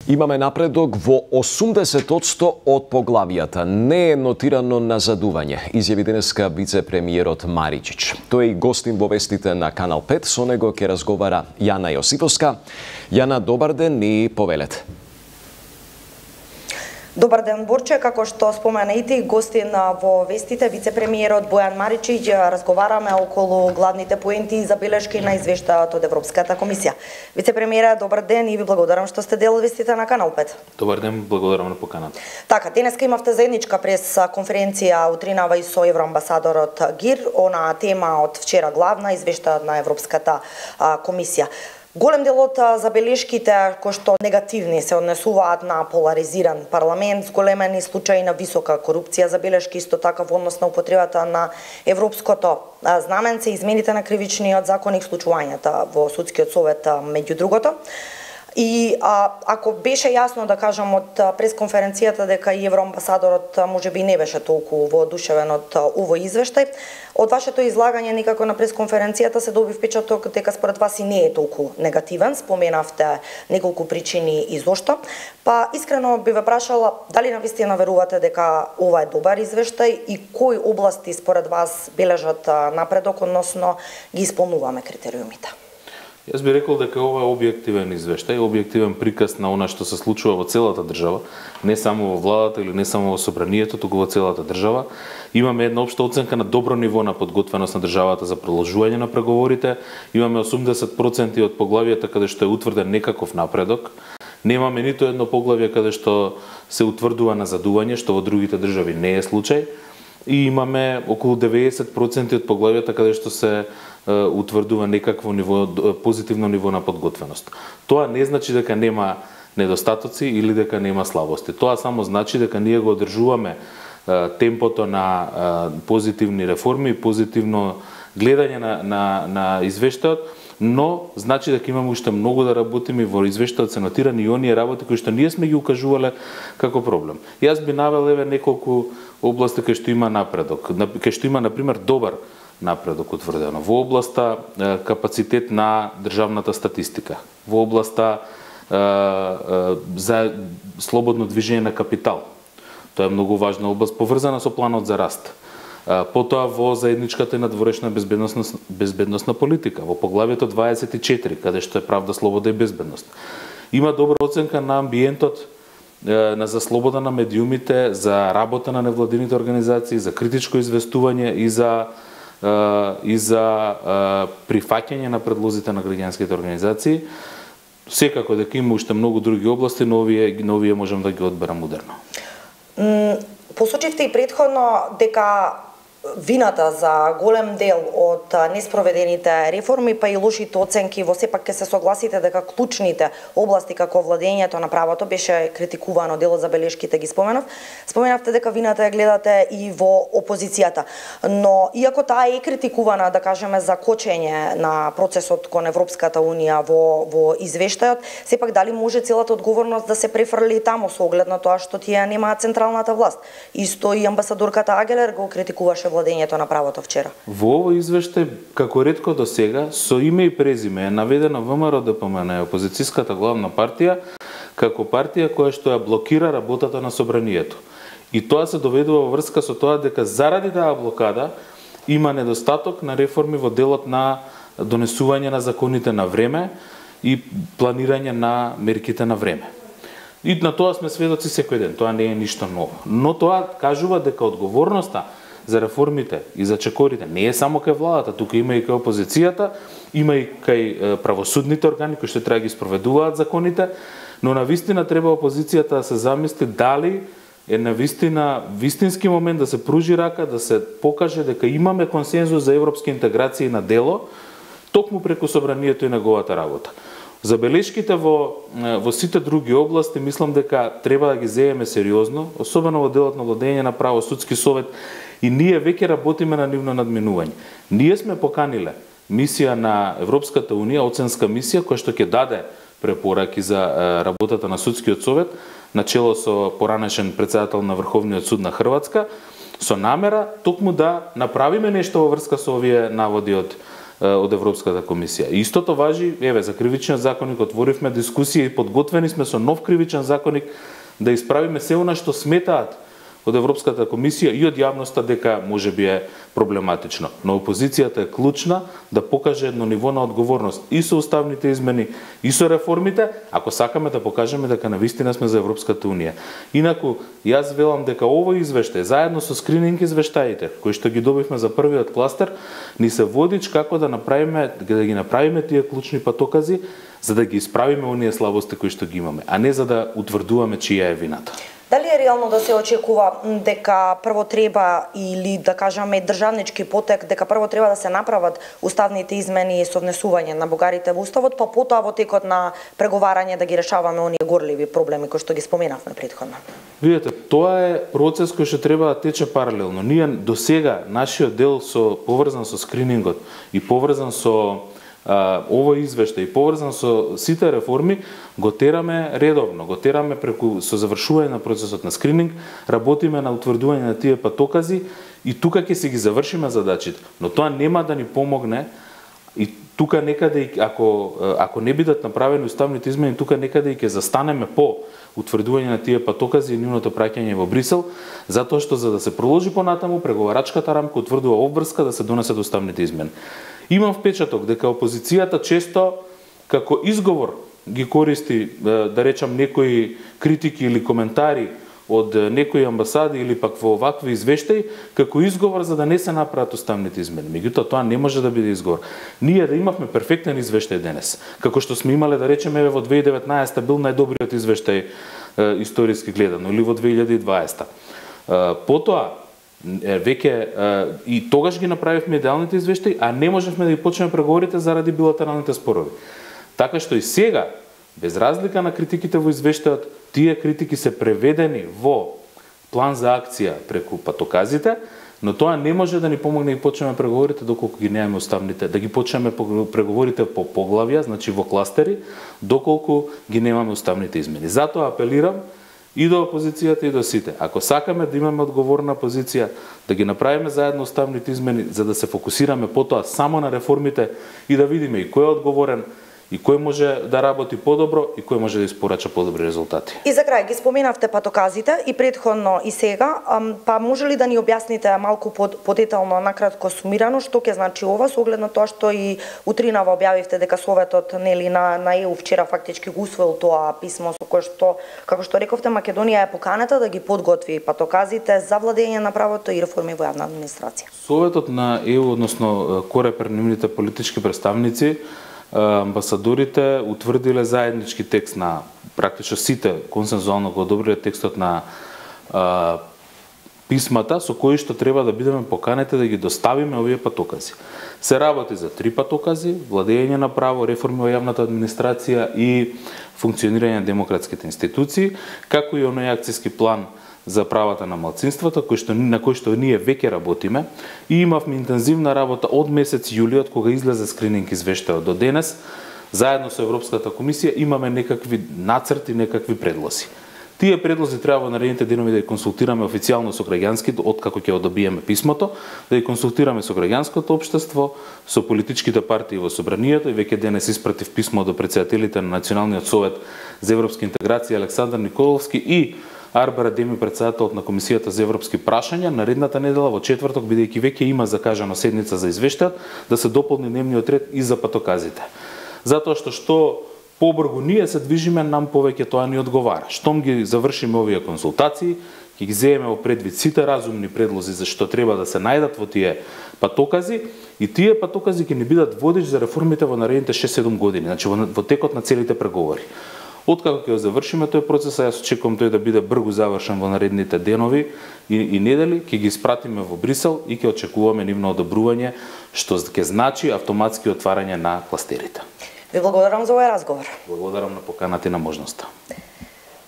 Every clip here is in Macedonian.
Имаме напредок во 80% од поглавијата. Не е нотирано назадување, изјави денеска вице-премиерот Маричич. Тој е и гостин во вестите на Канал 5, со него ќе разговара Јана Јосиповска. Јана, добар ден и повелете. Добар ден, Борче. Како што спомена и ти, гостин во вестите, вице-премиерот Бојан Маричич, разговараме околу главните поенти и забелешки на извештајот од Европската комисија. Вице-премиере, добар ден и ви благодарам што сте дел од вестите на Канал 5. Добар ден, благодарам на поканата. Така, денеска имавте заедничка прес-конференција утринава и со евроамбасадорот Гир, она тема од вчера главна, извештајот на Европската комисија. Голем дел од забелешките кои што негативни се однесуваат на поларизиран парламент, зголемени случаи на висока корупција, забелешки исто така во однос на употребата на европското знаменце, измените на кривичниот законник, случувањата во судскиот совет меѓу другото. И ако беше јасно, да кажам, од пресконференцијата дека и евроамбасадорот можеби не беше толку воодушевен од овој извештај, од вашето излагање никако на пресконференцијата се доби впечаток дека според вас и не е толку негативен. Споменавте неколку причини и зошто. Па искрено би ве прашала дали навистина верувате дека ова е добар извештај и кои области според вас бележат напредок, односно ги исполнуваме критериумите? Јас би рекол дека ова е објективен извештај, објективен приказ на она што се случува во целата држава, не само во владата или не само во собранието, туку во целата држава. Имаме една општа оценка на добро ниво на подготвеност на државата за продолжување на преговорите. Имаме 80% од поглавијата каде што е утврден некаков напредок. Немаме ниту едно поглавје каде што се утврдува назадување, што во другите држави не е случај. И имаме околу 90% од поглавијата каде што се утврдува некакво ниво, позитивно ниво на подготвеност. Тоа не значи дека нема недостатоци или дека нема слабости. Тоа само значи дека ние го одржуваме темпото на позитивни реформи, позитивно гледање на извештајот, но значи дека имаме уште многу да работиме и во извештајот се нотирани и оние работи кои што ние сме ги укажувале како проблем. Јас би навел неколку области кај што има напредок, кај што има на пример добар напредок утврдено во областа капацитет на државната статистика, во областа за слободно движење на капитал. Тоа е многу важна област поврзана со планот за раст. Потоа во заедничката и надворешна безбедносна политика, во поглавието 24, каде што е правда, слобода и безбедност. Има добра оценка на амбиентот за слобода на медиумите, за работа на невладините организации, за критичко известување и за прифаќање на предлозите на граѓанските организации. Секако дека има уште многу други области, но овие можам да ги одберам модерно. Посочивте и претходно дека вината за голем дел од неспроведените реформи, па и лошите оценки, во сепак ќе се согласите дека клучните области како владењето на правото беше критикувано, дел од забелешките ги споменав. Споменавте дека вината ја гледате и во опозицијата, но иако таа е критикувана, да кажеме, за кочење на процесот кон Европската унија во извештајот, сепак дали може целата одговорност да се префрли таму со оглед на тоа што тие немаат централната власт? Исто и амбасадорката Агелер го критикуваше владењето на правото вчера. Во овој извештај, како ретко до сега, со име и презиме е наведена ВМРО ДПМН, опозицијската главна партија, како партија која што ја блокира работата на собранието. И тоа се доведува во врска со тоа дека заради таа блокада има недостаток на реформи во делот на донесување на законите на време и планирање на мерките на време. И на тоа сме сведоци секој ден, тоа не е ништо ново. Но тоа кажува дека одговорноста за реформите и за чекорите не е само кај владата, тука има и кај опозицијата, има и кај правосудните органи кои што треба да ги спроведуваат законите, но навистина треба опозицијата да се замисли дали е навистина вистински момент да се пружи рака, да се покаже дека имаме консензус за европски интеграции на дело, токму преку собранието и неговата работа. Забелешките во сите други области мислам дека треба да ги земеме сериозно, особено во делот на владење на право, судски совет, и ние веќе работиме на нивно надминување. Ние сме поканиле мисија на Европската унија, оценска мисија, која што ќе даде препораки за работата на судскиот совет, начело со поранешен претседател на Врховниот суд на Хрватска, со намера токму да направиме нешто во врска со овие наводи од од Европската комисија. И истото важи, еве, за кривичниот законник отворивме дискусија и подготвени сме со нов кривичен законник да исправиме се она што сметаат од Европската комисија и од јавноста дека можеби е проблематично. Но опозицијата е клучна да покаже едно ниво на одговорност и со уставните измени, и со реформите, ако сакаме да покажеме дека навистина сме за Европската унија. Инаку, јас велам дека овој извештај, заедно со скрининг извештаите, кои што ги добивме за првиот кластер, ни се водич како да ги направиме тие клучни патокази, за да ги исправиме оние слабости кои што ги имаме, а не за да утврдуваме чија е вината. Дали е реално да се очекува дека прво треба, или да кажеме државнички потек, дека прво треба да се направат уставните измени со внесување на бугарите во уставот, па потоа во текот на преговарање да ги решаваме оние горливи проблеми кои што ги споменавме претходно? Видете, тоа е процес кој што треба да тече паралелно. Ние до сега нашиот дел поврзан со скринингот и поврзан со овој извештај и поврзан со сите реформи го тераме редовно, го тераме преку со завршување на процесот на скрининг, работиме на утврдување на тие патокази и тука ќе си ги завршиме задачите, но тоа нема да ни помогне и тука некаде ако не бидат направени уставните измени, тука некаде и ќе застанеме по утврдување на тие патокази и нивното праќање во Брисел, затоа што за да се проложи понатаму преговарачката рамка утврдува обврска да се донесат уставните измени. Имам впечаток дека опозицијата често како изговор ги користи, да речам, некои критики или коментари од некои амбасади или пак во овакви извештаи, како изговор за да не се направат уставните измени. Меѓутоа, тоа не може да биде изговор. Ние да имавме перфектен извештај денес, како што сме имале, да речеме, во 2019 бил најдобриот извештај историски гледано, или во 2020. Потоа, веќе и тогаш ги направивме идеалните извештаи, а не можевме да ги почнеме преговорите заради билатералните спорови. Така што и сега, без разлика на критиките во извештајот, тие критики се преведени во план за акција преку патоказите, но тоа не може да ни помогне да ги почнеме преговорите доколку ги немаме уставните, да ги почнеме преговорите по поглавја, значи во кластери, доколку ги немаме уставните измени. Затоа апелирам и до опозицијата и до сите. Ако сакаме да имаме одговорна позиција, да ги направиме заедно уставните измени, за да се фокусираме потоа само на реформите и да видиме и кој е одговорен, и кој може да работи подобро и кој може да испорача подобри резултати. И за крај, ги споменавте патоказите и претходно и сега, па може ли да ни објасните малку подетално, накратко сумирано, што ќе значи ова, со оглед на тоа што и утринава објавивте дека Советот на ЕУ вчера фактички го усвоил тоа писмо со кое што, како што рековте, Македонија е поканета да ги подготви патоказите за владење на правото и реформи во јавна администрација. Советот на ЕУ, односно Корепер, нивните политички представници, амбасадорите утврдиле заеднички текст на практично сите консензуално го одобриле текстот на писмата со кои што треба да бидеме поканети да ги доставиме овие патокази. Се работи за 3 патокази: владење на право, реформи во јавната администрација и функционирање на демократските институции, како и оној акцијски план за правата на малцинствата, на кој што ние веќе работиме, и имавме интензивна работа од месец јули, од кога излезе скрининг извештајот до денес. Заедно со Европската комисија имаме некакви нацрти, некакви предлози. Тие предлози треба во наредните денови да ги консултираме официјално со граѓанските, откако ќе одобиеме писмото, да ги консултираме со граѓанското општество, со политичките партии во собранието, и веќе денес испратив писмо до претседателите на Националниот совет за европска интеграција Александар Николовски и Арбара Деми, претседателот на Комисијата за европски прашања. Наредната недела во четврток, бидејќи веќе има закажана седница за извештајот, да се дополни дневниот ред и за патоказите. Затоа што побрзо ние се движиме, нам повеќе тоа ни одговара. Штом ги завршиме овие консултации, ќе ги земеме во предвид сите разумни предлози за што треба да се најдат во тие патокази, и тие патокази ќе ни бидат водич за реформите во наредните 6-7 години, значи во текот на целите преговори. Откако ќе завршиме тој процес, јас очекувам тој да биде брзо завршен во наредните денови и недели, ќе ги испратиме во Брисел и ќе очекуваме нивно одобрување, што ќе значи автоматски отварање на кластерите. Ви благодарам за овој разговор. Благодарам на поканата и на можноста.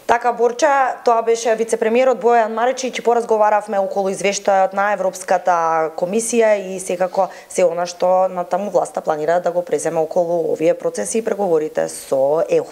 Така, Борча, тоа беше вице-премиерот Бојан Маричич, и поразговаравме околу извештајот на Европската комисија и секако се она што на таму власта планира да го преземе околу овие процеси и преговорите со ЕУ.